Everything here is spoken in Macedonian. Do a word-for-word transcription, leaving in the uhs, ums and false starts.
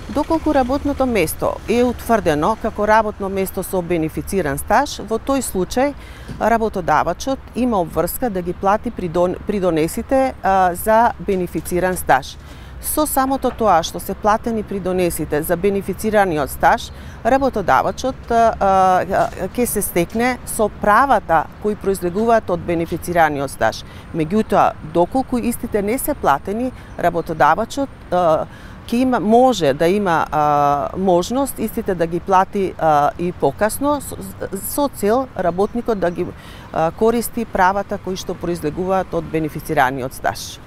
Доколку работното место е утврдено како работно место со бенефициран стаж, во тој случај работодавачот има обврска да ги плати придонесите за бенефициран стаж. Со самото тоа што се платени придонесите за бенефицираниот стаж, работодавачот ќе се стекне со правата кои произлегуваат од бенефицираниот стаж. Меѓутоа, доколку истите не се платени, работодавачот ќе има може да има а, можност истите да ги плати а, и покасно со, со цел работникот да ги а, користи правата кои што произлегуваат од бенефицираниот стаж.